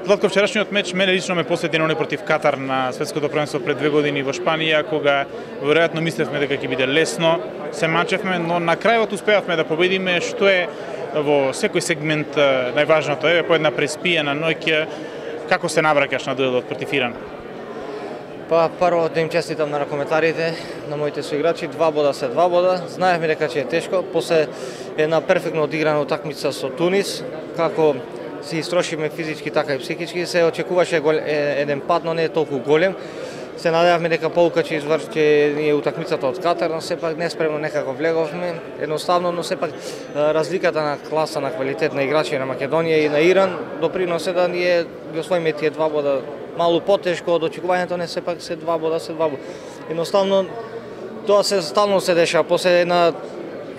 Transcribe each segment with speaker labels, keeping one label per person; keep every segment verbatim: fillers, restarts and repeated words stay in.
Speaker 1: Златко, вчерашниот меч мене лично ме посети на оној против Катар на светското првенство пред две години во Шпанија, кога веројатно мислевме дека ќе биде лесно, се мачевме, но на крајот успеавме да победиме, што е во секој сегмент најважното. Еве по една преспиена ноќ, како се навраќаш на дуелот против Иран?
Speaker 2: Па прво да им честитам на ракометарите, на моите соиграчи, два бода се два бода. Знаевме дека ќе е тешко, после една перфектно одиграна утакмица со Тунис, како си истрошиме физички така и психички, се очекуваше гол, еден пат, но не е толку голем. Се надевавме дека полука ќе изврши ние утакмицата од Катар, но сепак неспремно некако влеговме. Едноставно, но сепак разликата на класа на квалитет на играчи на Македонија и на Иран доприносе да ние ги освоиме тие два бода. Малку потешко од очекувањето, не сепак се два бода, се два бода. Едноставно тоа се стално се деша, после една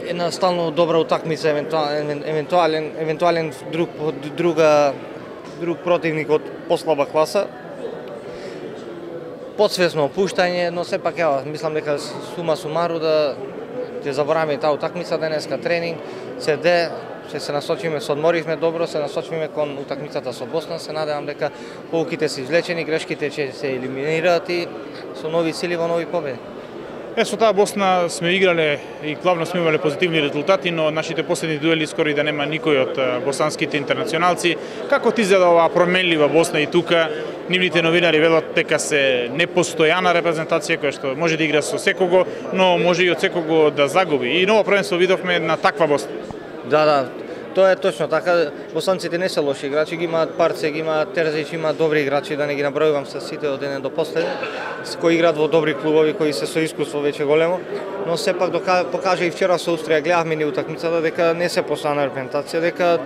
Speaker 2: една стално добра утакмица, евентуален евентуален евентуален друг друга друг противник од послаба класа. Подсвесно опуштање, но сепак ја мислам дека сума сумару да ќе забораваме таа утакмица денеска, тренинг, се де, ќе се насочиме, се одморивме добро, се насочиме кон утакмицата со Босна, се надевам дека поуките се извлечени, грешките ќе се елиминираат и со нови сили во нови победи.
Speaker 1: Е, со таа Босна сме играле и главно сме имале позитивни резултати, но нашите последни дуели скоро и да нема никој од босанските интернационалци. Како ти изгледа оваа променлива Босна и тука? Нивните новинари велат дека се непостојана репрезентација која што може да игра со секого, но може и од секого да загуби. И ново првенство видовме на таква Босна.
Speaker 2: Да, да. Тоа е точно така. Босанците не се лоши играчи, ги имаат Парце, ги имаат Терзич, имаат добри играчи, да не ги набројувам се сите од еден до последен, кои играат во добри клубови, кои се со искуство веќе големо, но сепак покажа и вчера со Австрија, гледавме ни утакмицата дека не се постојана репрезентација, дека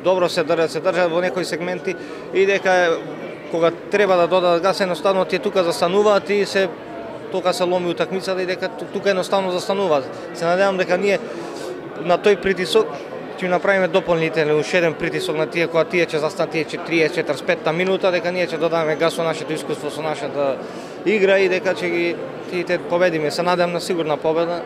Speaker 2: добро се држат, се држат во некои сегменти и дека кога треба да додадат газ, едноставно тие тука застануваат и се тока се ломи утакмицата и дека тука едноставно застануваат. Се надевам дека ние на тој притисок ќе направиме дополнителен уште еден притисок на тие кога тие ќе застанат тие триесет четиридесет и петта минута, дека ние ќе додадеме газ со нашето искуство, со нашата игра и дека ќе ги тие победиме. Се надевам на сигурна победа.